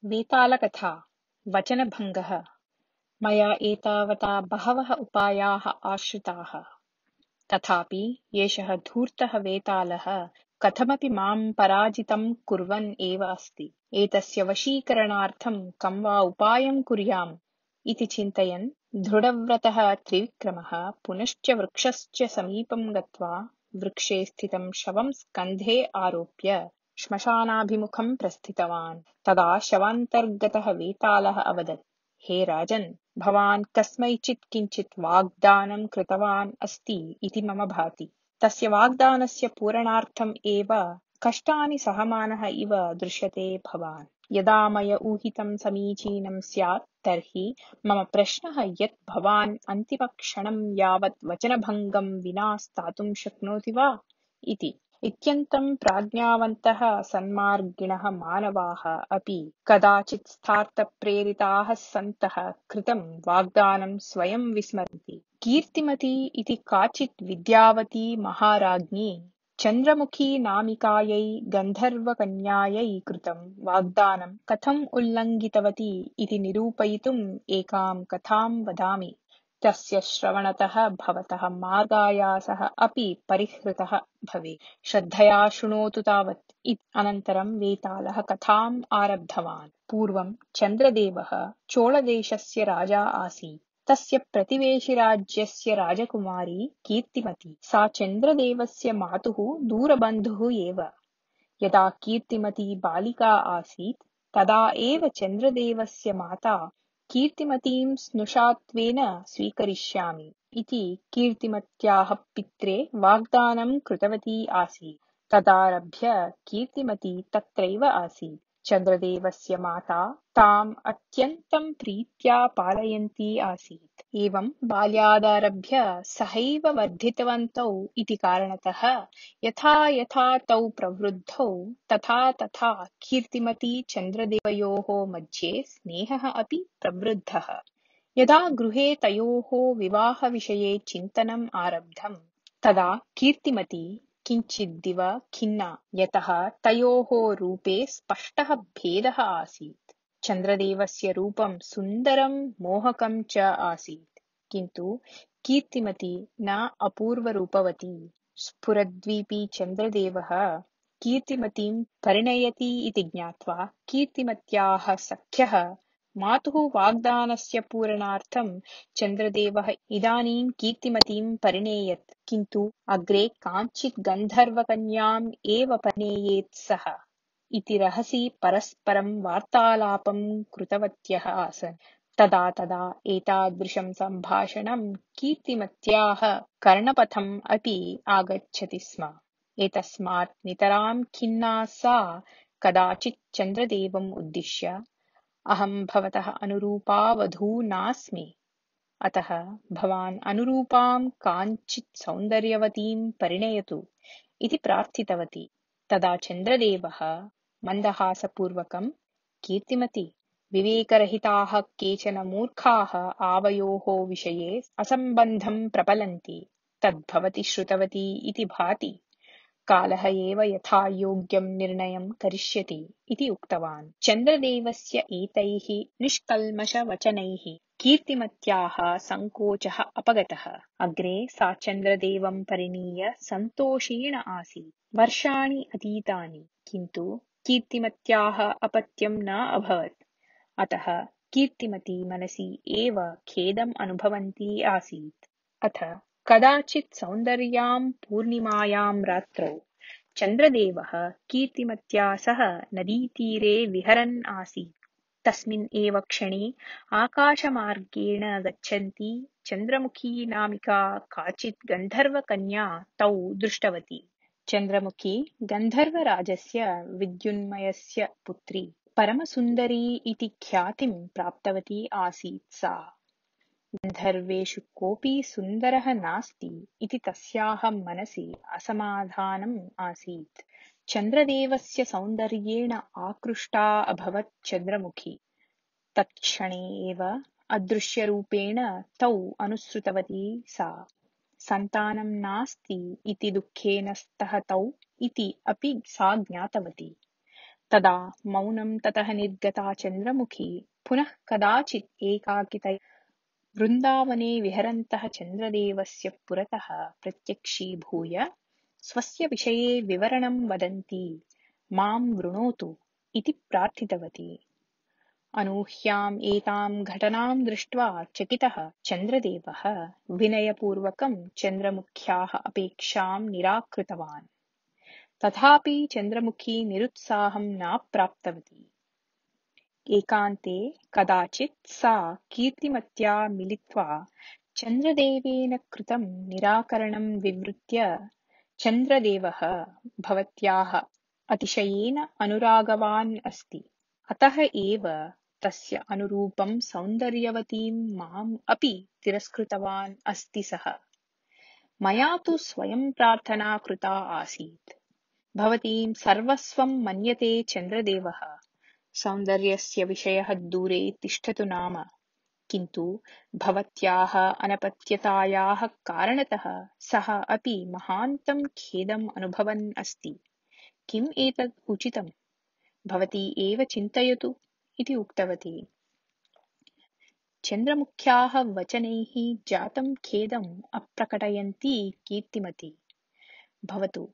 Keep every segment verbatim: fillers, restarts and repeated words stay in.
वेतालकथा वचनभङ्गः। मया एतावता बहवः उपायाः आश्रिताः, तथापि एषः धूर्तः वेतालः कथमपि मां पराजितं कुर्वन् एव अस्ति। एतस्य वशीकरणार्थं कं वा उपायं कुर्याम् इति चिन्तयन् दृढव्रतः त्रिविक्रमः पुनश्च वृक्षस्य समीपं गत्वा वृक्षे स्थितं शवं स्कन्धे आरोप्य श्मशानाभिमुखं प्रस्थितवान्। तदा शवान्तर्गतः वेतालः अवदत्, हे राजन्, भवान् कस्मैचित् किञ्चित् वाग्दानं कृतवान् अस्ति इति मम भाति। तस्य वाग्दानस्य पूरणार्थम् एव कष्टानि सहमानः इव दृश्यते भवान्। यदा मया ऊहितं समीचीनं स्यात् तर्हि मम प्रश्नः यत् भवान् अन्तिमक्षणं यावत् वचनभङ्गं विना स्थातुं शक्नोति वा इति। इत्यन्तं प्राज्ञावन्तः सन्मार्गिणः मानवाः अपि कदाचित् स्थार्थप्रेरिताः सन्तः कृतं वाग्दानं स्वयं विस्मरन्ति। कीर्तिमती इति काचित् विद्यावती महाराज्ञी चन्द्रमुखी नामिकायै गन्धर्वकन्यायै कृतं वाग्दानं कथम् उल्लङ्घितवती इति निरूपयितुम् एकां कथां वदामि। तस्य श्रवणतः भवतः मार्गायासः अपि परिहृतः भवेत्। श्रद्धया शृणोतु तावत्। अनन्तरं वेतालः कथाम् आरब्धवान्। पूर्वं चन्द्रदेवः चोळदेशस्य राजा आसीत्। तस्य प्रतिवेशिराज्यस्य राजकुमारी कीर्तिमती। सा चन्द्रदेवस्य मातुः दूरबन्धुः एव। यदा कीर्तिमती बालिका आसीत् तदा एव चन्द्रदेवस्य माता कीर्तिमतीं स्नुषात्वेन स्वीकरिष्यामि इति कीर्तिमत्याः पित्रे वाग्दानं कृतवती आसीत्। तदारभ्य कीर्तिमती तत्रैव आसीत्। चन्द्रदेवस्य माता ताम् अत्यन्तं प्रीत्या पालयन्ती आसीत्। एवं बाल्यादारभ्य सहैव वर्धितवन्तौ इति कारणतः यथा यथा तौ प्रवृद्धौ तथा तथा कीर्तिमती चन्द्रदेवयोः मध्ये स्नेहः अपि प्रवृद्धः। यदा गृहे तयोः विवाहविषये चिन्तनम् आरब्धम् तदा कीर्तिमती किञ्चिद्दिव खिन्ना, यतः तयोः रूपे स्पष्टः भेदः आसीत्। चन्द्रदेवस्य रूपं सुन्दरं मोहकं च आसीत्, किन्तु कीर्तिमती न अपूर्वरूपवती। स्फुरद्वीपी चन्द्रदेवः कीर्तिमतीं परिणयति इति ज्ञात्वा कीर्तिमत्याः सख्यः मातुः वाग्दानस्य पूरणार्थं चन्द्रदेवः इदानीं कीर्तिमतीं परिणेयत्, किन्तु अग्रे काञ्चित् गन्धर्वकन्याम् एव परिणेयेत् सः इति रहसि परस्परं वार्तालापं कृतवत्यः आसन्। तदा तदा एतादृशं सम्भाषणं कीर्तिमत्याः कर्णपथम् अपि आगच्छति स्म। एतस्मात् नितरां खिन्ना सा कदाचित् चन्द्रदेवम् उद्दिश्य, अहं भवतः अनुरूपा वधू नास्मि, अतः भवान् अनुरूपां काञ्चित् सौन्दर्यवतीं परिणयतु इति प्रार्थितवती। तदा चन्द्रदेवः मन्दहासपूर्वकं, कीर्तिमती, विवेकरहिताः केचन मूर्खाः आवयोः विषये असम्बन्धं प्रपलन्ति, तद्भवती श्रुतवती इति भाति। कालः एव यथा योग्यं निर्णयं करिष्यति इति उक्तवान्। चन्द्रदेवस्य एतैः निष्कल्मषवचनैः कीर्तिमत्याः सङ्कोचः अपगतः। अग्रे सा चन्द्रदेवं परिणीय सन्तोषेण आसीत्। वर्षाणि अतीतानि, किन्तु कीर्तिमत्याः अपत्यं न अभवत्। अतः कीर्तिमती मनसि एव खेदम् अनुभवन्ती आसीत्। अथ कदाचित् सौन्दर्यां पूर्णिमायां रात्रौ चन्द्रदेवः कीर्तिमत्या सह नदीतीरे विहरन् आसीत्। तस्मिन् एव क्षणे आकाशमार्गेण गच्छन्ती चन्द्रमुखी नामिका काचित् गन्धर्वकन्या तौ दृष्टवती। चन्द्रमुखी गन्धर्वराजस्य विद्युन्मयस्य पुत्री परमसुन्दरी इति ख्यातिं प्राप्तवती आसीत् सा। गन्धर्वेषु कोऽपि सुन्दरः नास्ति इति तस्याः मनसि असमाधानम् आसीत्। चन्द्रदेवस्य सौन्दर्येण आकृष्टा अभवत् चन्द्रमुखी। तत्क्षणे एव अदृश्यरूपेण तौ अनुसृतवती सा। सन्तानं नास्ति इति दुःखेन स्तः तौ इति अपि सा ज्ञातवती। तदा मौनं ततः निर्गता चन्द्रमुखी पुनः कदाचित् एकाकितया वृन्दावने विहरन्तः चन्द्रदेवस्य पुरतः प्रत्यक्षीभूय स्वस्य विषये विवरणं वदन्ती मां वृणोतु इति प्रार्थितवती। अनूह्याम् एतां घटनां दृष्ट्वा चकितः चन्द्रदेवः विनयपूर्वकं चन्द्रमुख्याः अपेक्षां निराकृतवान्। तथापि चन्द्रमुखी निरुत्साहं न प्राप्तवती। एकान्ते कदाचित् सा कीर्तिमत्या मिलित्वा चन्द्रदेवेन कृतं निराकरणं विवृत्य चन्द्रदेवः भवत्याः अतिशयेन अनुरागवान् अस्ति, अतः एव तस्य अनुरूपं सौन्दर्यवतीं माम् अपि तिरस्कृतवान् अस्ति सः। मया तु स्वयं प्रार्थना कृता आसीत्। भवतीं सर्वस्वं मन्यते चन्द्रदेवः, सौन्दर्यस्य विषयः दूरे तिष्ठतु नाम, किन्तु भवत्याः अनपत्यतायाः कारणतः सः अपि महान्तं खेदम् अनुभवन् अस्ति। किम् एतत् उचितम्? भवती एव चिन्तयतु इति उक्तवती। चन्द्रमुख्याः वचनैः जातं खेदम् अप्रकटयन्ती कीर्तिमती, भवतु,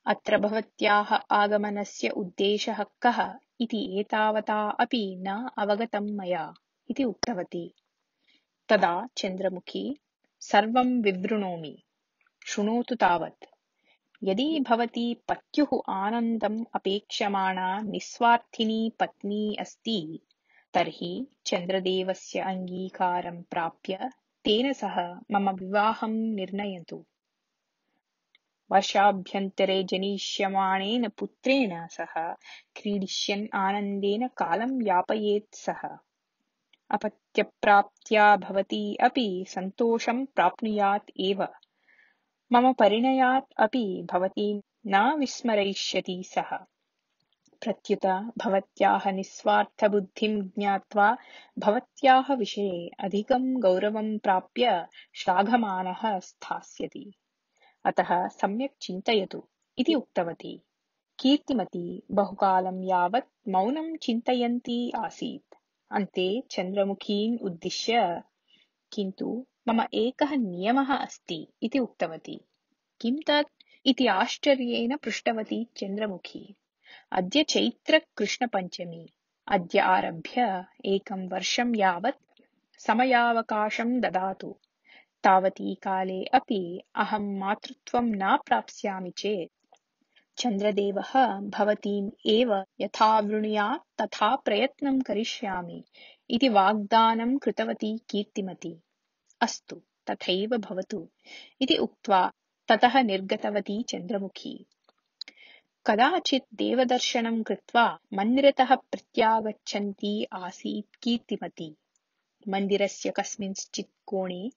अत्र भवत्याः आगमनस्य उद्देशः कः इति एतावता अपि न अवगतं मया इति उक्तवती। तदा चन्द्रमुखी सर्वं विवृणोमि, शृणोतु तावत्। यदि भवती पत्युः आनन्दम् अपेक्षमाणा निस्वार्थिनी पत्नी अस्ति, तर्हि चन्द्रदेवस्य अङ्गीकारं प्राप्य तेन सह मम विवाहं निर्णयतु। वर्षाभ्यन्तरे जनिष्यमाणेन पुत्रेण सह क्रीडिष्यन् आनन्देन कालं यापयेत् सः। अपत्यप्राप्त्या भवती अपि सन्तोषं प्राप्नुयात् एव। मम परिणयात् अपि भवतीं न विस्मरयिष्यति सः। प्रत्युत भवत्याः निस्वार्थबुद्धिं ज्ञात्वा भवत्याः विषये अधिकं गौरवं प्राप्य श्लाघमानः स्थास्यति। अतः सम्यक् चिन्तयतु इति उक्तवती। कीर्तिमती बहुकालं यावत् मौनं चिन्तयन्ती आसीत्। अन्ते चन्द्रमुखीम् उद्दिश्य, किन्तु मम एकः नियमः अस्ति इति उक्तवती। किं तत् इति आश्चर्येण पृष्टवती चन्द्रमुखी। अद्य चैत्रकृष्णपञ्चमी। अद्य आरभ्य एकं वर्षं यावत् समयावकाशं ददातु। तावती काले अपि अहं मातृत्वं न प्राप्स्यामि चेत् चन्द्रदेवः भवतीम् एव यथा वृणुयात् तथा प्रयत्नं करिष्यामि इति वाग्दानं कृतवती कीर्तिमती। अस्तु, तथैव भवतु इति उक्त्वा ततः निर्गतवती चन्द्रमुखी। कदाचित् देवदर्शनं कृत्वा मन्दिरतः प्रत्यागच्छन्ती आसीत् कीर्तिमती। मन्दिरस्य कस्मिंश्चित् कोणे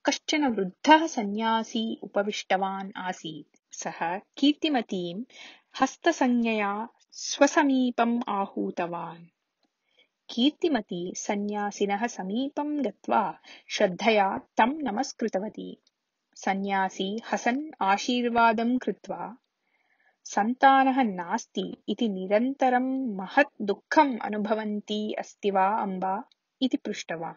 कश्चन वृद्धः सन्न्यासी उपविष्टवान् आसीत्। सः कीर्तिमतीं हस्तसंज्ञया स्वसमीपम् आहूतवान्। कीर्तिमती सन्न्यासिनः समीपं गत्वा श्रद्धया तं नमस्कृतवती। सन्न्यासी हसन् आशीर्वादं कृत्वा, सन्तानः नास्ति इति निरन्तरं महत् दुःखम् अनुभवन्ती अस्ति वा अम्बा इति पृष्टवान्।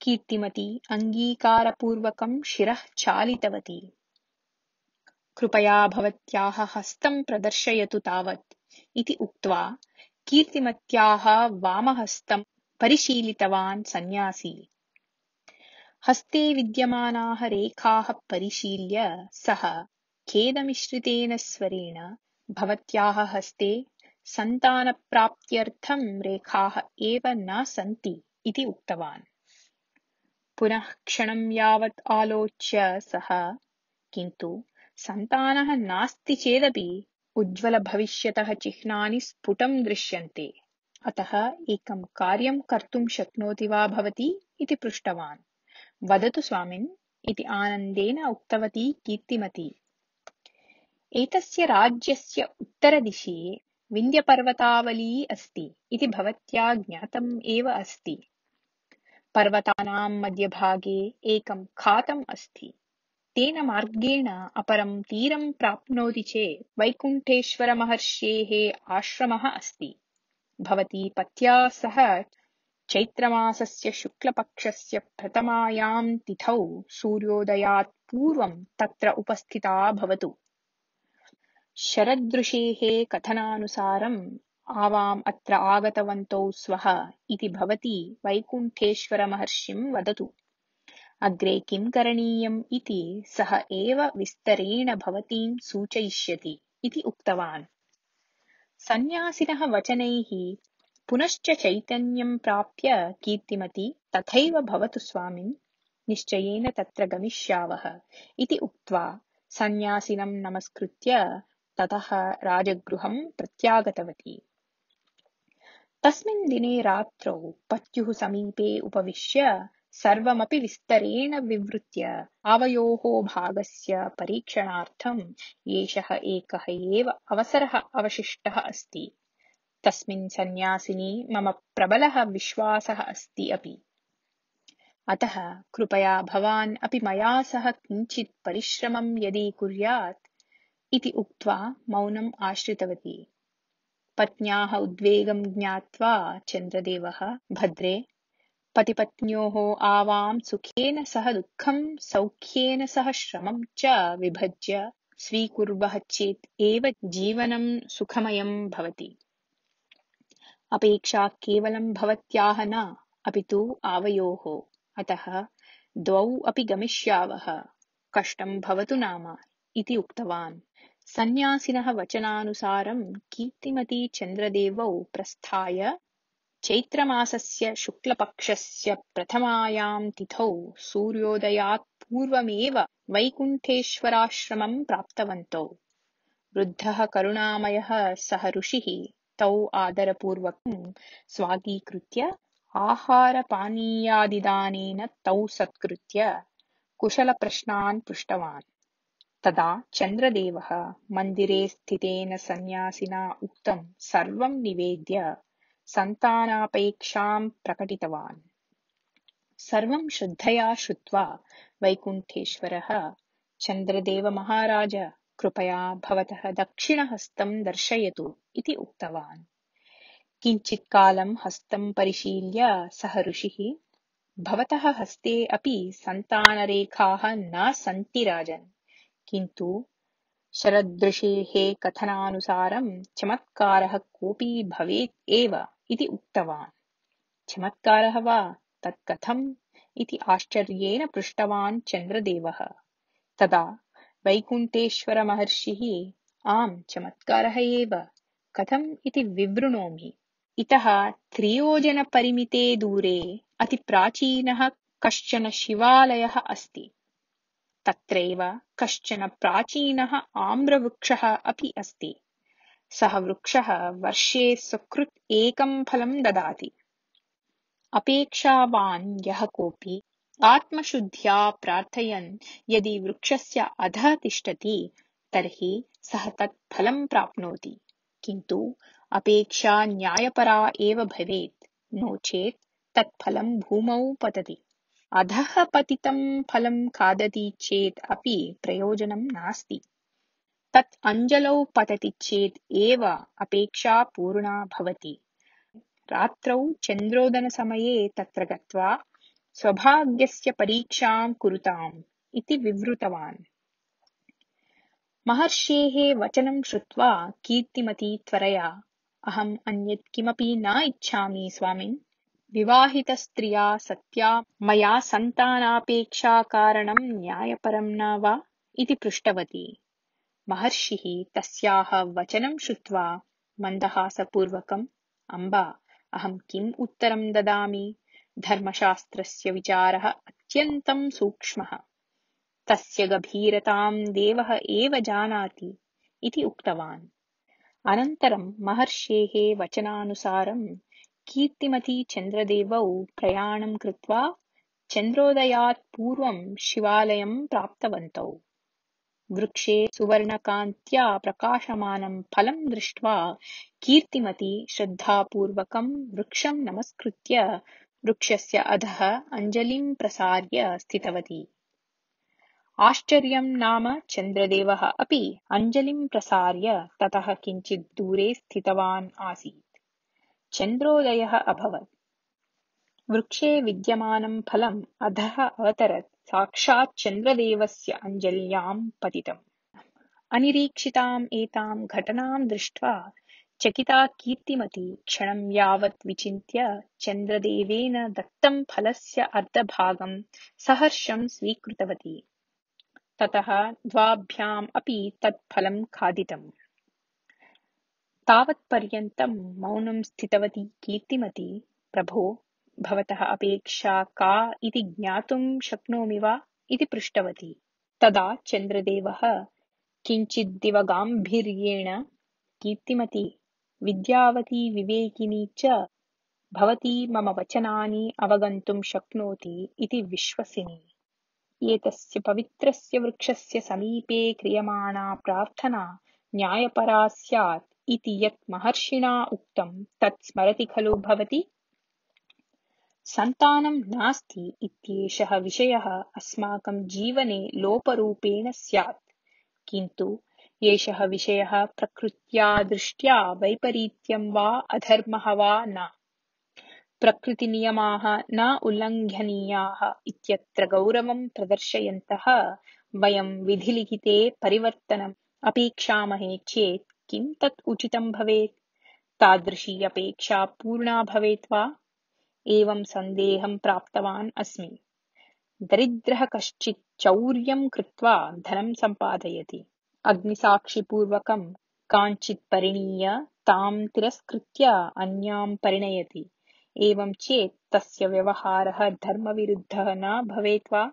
कीर्तिमती अङ्गीकारपूर्वकं शिरः चालितवती। कृपया भवत्याः हस्तं प्रदर्शयतु तावत् इति उक्त्वा कीर्तिमत्याः वामहस्तं परिशीलितवान् सन्न्यासी। हस्ते विद्यमानाः रेखाः परिशील्य सः खेदमिश्रितेन स्वरेण, भवत्याः हस्ते सन्तानप्राप्त्यर्थं रेखाः एव न सन्ति इति उक्तवान्। पुनः क्षणं यावत् आलोच्य सः, किन्तु सन्तानः नास्ति चेदपि उज्ज्वलभविष्यतः चिह्नानि स्फुटं दृश्यन्ते, अतः एकं कार्यं कर्तुं शक्नोति वा भवती इति पृष्टवान्। वदतु स्वामिन् इति आनन्देन उक्तवती कीर्तिमती। एतस्य राज्यस्य उत्तरदिशि विन्ध्यपर्वतावली अस्ति इति भवत्या ज्ञातम् एव अस्ति। पर्वतानां मध्यभागे एकं खातम् अस्ति। तेन मार्गेण अपरं तीरं प्राप्नोति चेत् वैकुण्ठेश्वरमहर्षेः आश्रमः अस्ति। भवती पत्या सह चैत्रमासस्य शुक्लपक्षस्य प्रथमायां तिथौ सूर्योदयात् पूर्वं तत्र उपस्थिता भवतु। शरदृषेः कथनानुसारम् आवाम् अत्र आगतवन्तौ स्वः इति भवती वैकुण्ठेश्वरमहर्षिं वदतु। अग्रे किं करणीयम् इति सः एव विस्तरेण भवतीं सूचयिष्यति इति उक्तवान्। सन्न्यासिनः वचनैः पुनश्च चैतन्यं प्राप्य कीर्तिमती तथैव भवतु स्वामिन्, निश्चयेन तत्र गमिष्यावः इति उक्त्वा सन्न्यासिनं नमस्कृत्य ततः राजगृहं प्रत्यागतवती। तस्मिन् दिने रात्रौ पत्युः समीपे उपविश्य सर्वमपि विस्तरेण विवृत्य आवयोः भागस्य परीक्षणार्थम् एषः एकः एव अवसरः अवशिष्टः अस्ति। तस्मिन् सन्न्यासिनी मम प्रबलः विश्वासः अस्ति अपि। अतः कृपया भवान् अपि मया सह किञ्चित् परिश्रमं यदि कुर्यात् इति उक्त्वा मौनम् आश्रितवती। पत्न्याः उद्वेगं ज्ञात्वा चन्द्रदेवः भद्रे, पतिपत्न्योः आवां सुखेन सह दुःखं सौख्येन सह श्रमं च विभज्य स्वीकुर्वः चेत् एव जीवनं सुखमयं भवति। अपेक्षा केवलं भवत्याः न, अपि तु आवयोः। अतः द्वौ अपि गमिष्यावः, कष्टं भवतु नाम इति उक्तवान्। सन्न्यासिनः वचनानुसारं कीर्तिमती चन्द्रदेवौ प्रस्थाय चैत्रमासस्य शुक्लपक्षस्य प्रथमायां तिथौ सूर्योदयात् पूर्वमेव वैकुण्ठेश्वराश्रमं प्राप्तवन्तौ। वृद्धः करुणामयः सः ऋषिः तौ आदरपूर्वकं स्वागीकृत्य आहारपानीयादिदानेन तौ सत्कृत्य कुशलप्रश्नान् पृष्टवान्। तदा चन्द्रदेवः मन्दिरे स्थितेन सन्न्यासिना उक्तं सर्वं निवेद्य सन्तानापेक्षां प्रकटितवान्। सर्वं श्रद्धया श्रुत्वा वैकुण्ठेश्वरः चन्द्रदेव महाराज, कृपया भवतः दक्षिणहस्तं दर्शयतु इति उक्तवान्। किञ्चित्कालं हस्तं परिशील्य सः ऋषिः, भवतः हस्ते अपि सन्तानरेखाः न सन्ति राजन्, किन्तु शरदृषेः कथनानुसारं चमत्कारः कोऽपि भवेत् एव इति उक्तवान्। चमत्कारः वा, तत् कथम् इति आश्चर्येण पृष्टवान् चन्द्रदेवः। तदा वैकुण्ठेश्वरमहर्षिः, आम् चमत्कारः एव, कथम् इति विवृणोमि। इतः त्रियोजनपरिमिते दूरे अतिप्राचीनः कश्चन शिवालयः अस्ति। तत्रैव कश्चन प्राचीनः आम्रवृक्षः अपि अस्ति। सः वृक्षः वर्षे सकृत् एकं फलं ददाति। अपेक्षावान् यः कोऽपि आत्मशुद्ध्या प्रार्थयन् यदि वृक्षस्य अधः तिष्ठति तर्हि सः तत् फलं प्राप्नोति, किन्तु अपेक्षा न्यायपरा एव भवेत्, नो चेत् तत् फलं भूमौ पतति। अधः पतितं फलं खादति चेत् अपि प्रयोजनं नास्ति। तत् अञ्जलौ पतति चेत् एव अपेक्षा पूर्णा भवति। रात्रौ चन्द्रोदनसमये तत्र गत्वा स्वभाग्यस्य परीक्षां कुरुताम् इति विवृतवान्। महर्षेः वचनं श्रुत्वा कीर्तिमती त्वरया, अहम् अन्यत् किमपि न इच्छामि स्वामिन्, विवाहितस्त्रिया सत्या मया सन्तानापेक्षाकारणं न्यायपरं न वा इति पृष्टवती। महर्षिः तस्याः वचनं श्रुत्वा मन्दहासपूर्वकम्, अम्बा, अहं किम् उत्तरं ददामि, धर्मशास्त्रस्य विचारः अत्यन्तं सूक्ष्मः, तस्य गभीरतां देवः एव जानाति इति उक्तवान्। अनन्तरं महर्षेः वचनानुसारं कीर्तिमती चन्द्रदेवौ प्रयाणं कृत्वा चन्द्रोदयात् पूर्वं शिवालयं प्राप्तवन्तौ। वृक्षे सुवर्णकान्त्या प्रकाशमानं फलं दृष्ट्वा कीर्तिमती श्रद्धापूर्वकं वृक्षं नमस्कृत्य वृक्षस्य अधः अञ्जलिं प्रसार्य स्थितवती। आश्चर्यं नाम चन्द्रदेवः अपि अञ्जलिं प्रसार्य ततः किञ्चित् दूरे स्थितवान् आसीत्। चन्द्रोदयः अभवत्। वृक्षे विद्यमानं फलम् अधः अवतरत्। साक्षात् चन्द्रदेवस्य अञ्जल्यां पतितम्। अनिरीक्षिताम् एतां घटनां दृष्ट्वा चकिता कीर्तिमती क्षणं यावत् विचिन्त्य चन्द्रदेवेन दत्तं फलस्य अर्धभागं सहर्षं स्वीकृतवती। ततः द्वाभ्याम् अपि तत् फलं खादितम्। तावत्पर्यन्तं मौनं स्थितवती कीर्तिमती। प्रभो, भवतः अपेक्षा का इति ज्ञातुं शक्नोमि वा इति पृष्टवती। तदा चन्द्रदेवः किञ्चिद्दिवगाम्भीर्येण कीर्तिमती, विद्यावती विवेकिनी च भवती मम वचनानि अवगन्तुं शक्नोति इति विश्वसिमि। एतस्य पवित्रस्य वृक्षस्य समीपे क्रियमाणा प्रार्थना न्यायपरा स्यात् इति यत् महर्षिणा उक्तं तत् स्मरति खलु भवती? सन्तानं नास्ति इत्येषः विषयः अस्माकं जीवने लोपरूपेण स्यात्, किन्तु एषः विषयः प्रकृत्या दृष्ट्या वैपरीत्यं वा अधर्मः वा न। प्रकृतिनियमाः न उल्लङ्घनीयाः इत्यत्र गौरवं प्रदर्शयन्तः वयं विधिलिखिते परिवर्तनम् अपेक्षामहे चेत् किं तत् उचितं भवेत्? तादृशी अपेक्षा पूर्णा भवेत् वा? एवं सन्देहं प्राप्तवान् अस्मि। दरिद्रः कश्चित् चौर्यं कृत्वा धनं सम्पादयति। अग्निसाक्षिपूर्वकं काञ्चित् परिणीय तां तिरस्कृत्य अन्यां परिणयति। एवं चेत् तस्य व्यवहारः धर्मविरुद्धः न भवेत् वा?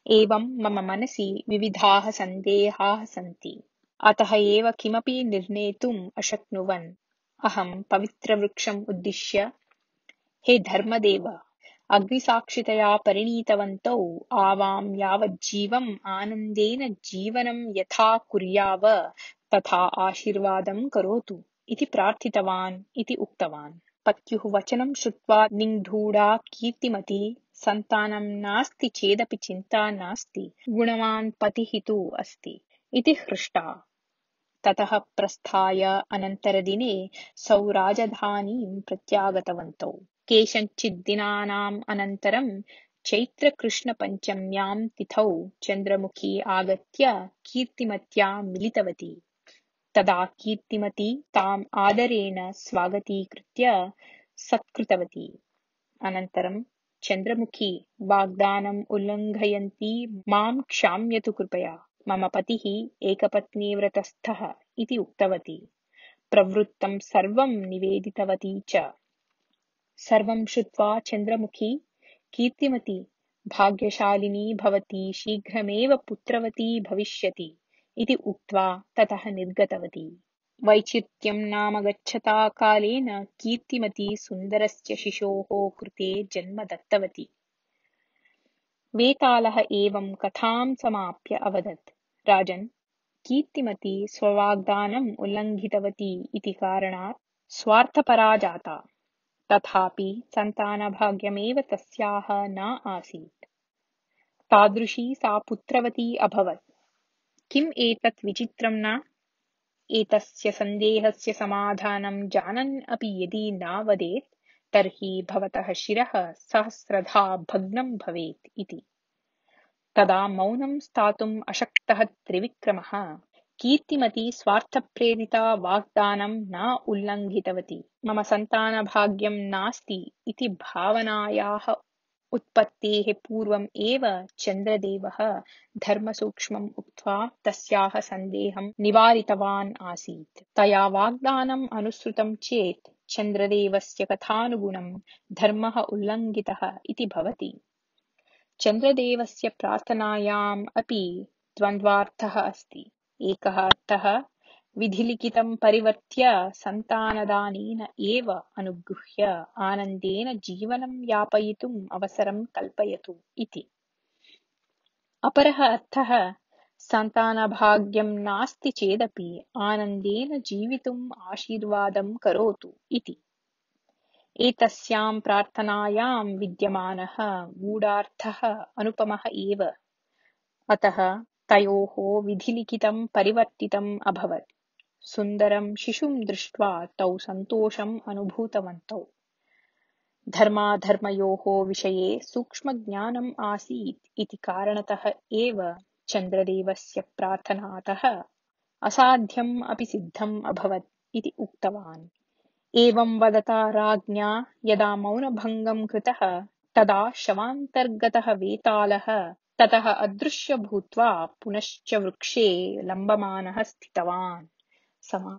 एवं मम मनसि विविधाः सन्देहाः सन्ति। अतः एव किमपि निर्णेतुम् अशक्नुवन् अहं पवित्रवृक्षम् उद्दिश्य, हे धर्मदेव, अग्निसाक्षितया परिणीतवन्तौ आवां यावज्जीवम् आनन्देन जीवनं यथा कुर्याव तथा आशीर्वादं करोतु इति प्रार्थितवान् इति उक्तवान्। पत्युः वचनं श्रुत्वा निगूढा कीर्तिमती, सन्तानं नास्ति चेदपि चिन्ता नास्ति, गुणवान् पतिः तु अस्ति इति हृष्टा। ततः प्रस्थाय अनन्तरदिने सौराजधानीं प्रत्यागतवन्तौ। केषञ्चिद्दिनानाम् अनन्तरं चैत्रकृष्णपञ्चम्यां तिथौ चन्द्रमुखी आगत्य कीर्तिमत्या मिलितवती। तदा कीर्तिमती ताम् आदरेण स्वागतीकृत्य सत्कृतवती। अनन्तरं चन्द्रमुखी, वाग्दानम् उल्लङ्घयन्ती मां क्षाम्यतु कृपया, मम पतिः एकपत्नीव्रतस्थः इति उक्तवती। प्रवृत्तं सर्वं निवेदितवती च। सर्वं श्रुत्वा चन्द्रमुखी, कीर्तिमती, भाग्यशालिनी भवती शीघ्रमेव पुत्रवती भविष्यति इति उक्त्वा ततः निर्गतवती। वैचित्र्यं नाम गच्छता कालेन कीर्तिमती सुन्दरस्य शिशोः कृते जन्म दत्तवती। वेतालः एवं कथां समाप्य अवदत्, राजन्, कीर्तिमती स्ववाग्दानम् उल्लङ्घितवती इति कारणात् स्वार्थपरा जाता। तथापि सन्तानभाग्यमेव तस्याः न आसीत्। तादृशी सा पुत्रवती अभवत्। किम् एतत् विचित्रं न? एतस्य सन्देहस्य समाधानं जानन् अपि यदि न वदेत् तर्हि भवतः शिरः सहस्रधा भग्नं भवेत् इति। तदा मौनं स्थातुम् अशक्तः त्रिविक्रमः, कीर्तिमती स्वार्थप्रेरिता वाग्दानं न उल्लङ्घितवती। मम सन्तानभाग्यं नास्ति इति भावनायाः उत्पत्तेः पूर्वम् एव चन्द्रदेवः धर्मसूक्ष्मम् उक्त्वा तस्याः सन्देहं निवारितवान् आसीत्। तया वाग्दानम् अनुसृतं चेत् चन्द्रदेवस्य कथानुगुणं धर्मः उल्लङ्घितः इति भवति। चन्द्रदेवस्य प्रार्थनायाम् अपि द्वन्द्वार्थः अस्ति। एकः अर्थः, विधिलिखितं परिवर्त्य सन्तानदानेन एव अनुगृह्य आनन्देन जीवनं यापयितुम् अवसरं कल्पयतु इति। अपरः अर्थः, सन्तानभाग्यं नास्ति चेदपि आनन्देन जीवितुम् आशीर्वादं करोतु इति। एतस्यां प्रार्थनायां विद्यमानः गूढार्थः अनुपमः एव। अतः तयोः विधिलिखितं परिवर्तितम् अभवत्। सुन्दरं शिशुं दृष्ट्वा तौ सन्तोषम् अनुभूतवन्तौ। धर्माधर्मयोः विषये सूक्ष्मज्ञानम् आसीत् इति कारणतः एव चन्द्रदेवस्य प्रार्थनातः असाध्यम् अपि सिद्धम् अभवत् इति उक्तवान्। एवं वदता राज्ञा यदा मौनभङ्गं कृतः तदा शवान्तर्गतः वेतालः ततः अदृश्य भूत्वा पुनश्च वृक्षे लम्बमानः स्थितवान्। समा